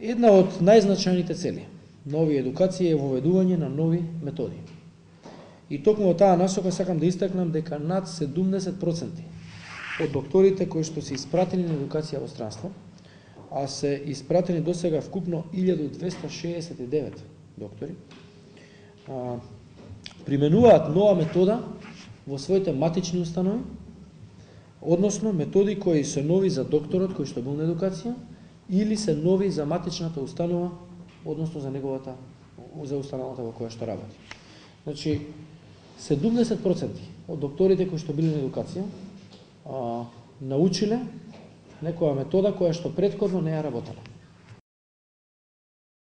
Една од најзначајните цели на овие едукација е воведување на нови методи. И токму во таа насока сакам да истакнам дека над 70% од докторите кои што се испратени на едукација во странство, а се испратени досега вкупно 1269 доктори, применуваат нова метода во своите матични установи, односно методи кои се нови за докторот кој што бил на едукација или се нови за матичната установа, односно за установата во која што работи. Значи, 70% од докторите кои што били на едукација научиле некоја метода која што претходно не ја работела.